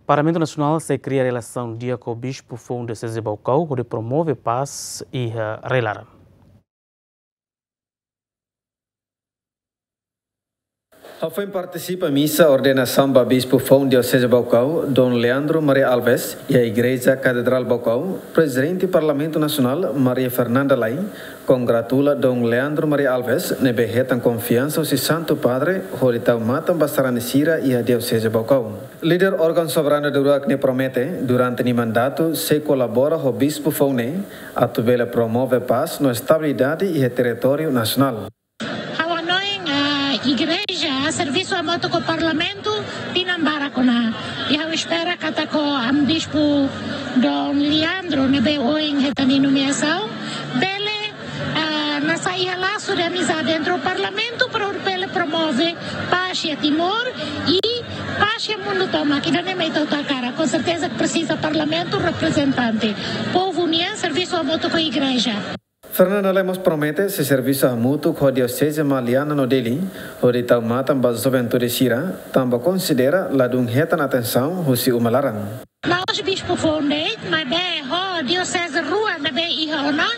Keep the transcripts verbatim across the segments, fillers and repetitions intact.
Parlamentu Nasionál sei kria relasaun di'ak ho bispu foun Dioseze Baucau hodi promove pás iha rai-laran. Hafoin partisipa misa ordenasaun ba bispu foun Dioseze Baucau, Dom Leandro Maria Alves, iha Igreja Katedrál Baucau, Prezidente Parlamentu Nasionál, Maria Fernanda Lay, kongratula Dom Leandro Maria Alves ne'ebé hetan konfiansa husi Santu Padre hodi tau matan ba sarani sira iha Dioseze Baucau. Líder órgaun soberanu daudauk ne'e promete, durante nia mandatu, sei kolabora ho bispu foun ne'e, atu bele promove pás no estabilidade iha territóriu nasionál. Ha'u hanoin, ah, igreja servisu hamutuk ho parlamentu tinan barak ona. I ha'u espera katak ho Amu Bispu Dom Leandro ne'ebé ohin hetan nia nomeasaun, bele, ah, nasá iha lasu de amizade entre ho parlamentu para bele promove pás iha Timor i pás iha mundu tomak. Ida-ne'e mak ita hotu hakarak. Com certeza que presiza parlamentu reprezentante. Povu nian servisu hamutuk ho igreja. Fernanda Lay mós promete sei servisu hamutuk ho Dioseze Maliana no Dili, hodi tau matan ba juventude sira, tanba konsidera ladún hetan atensaun husi uma laran. La'ós bispu foun de'it, maibé ho dioseze rua ne'ebé iha ona,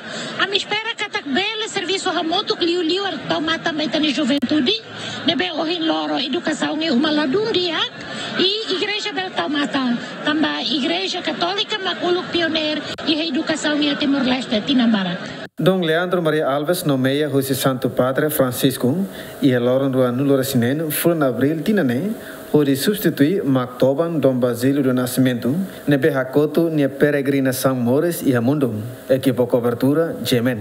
ami espera katak bele servisu hamutuk liuliu atu tau matan ba ita-nia juventude, ne'ebé ohin loro edukasaun iha uma ladún di'ak, i igreja bele tau matan, tanba Igreja Katólika mak uluk pioneira iha edukasaun iha Timor-Leste tinan barak. Dom Leandro Maria Alves nomeia husi Santu Padre Francisco iha loron ruanulu-resin-neen fulan Abríl tinan ne'e, hodi substitui Mak Toban Dom Basílio do Nascimento, ne'ebé hakotu nia peregrinasaun moris iha mundu. Ekipa kobertura, G M N.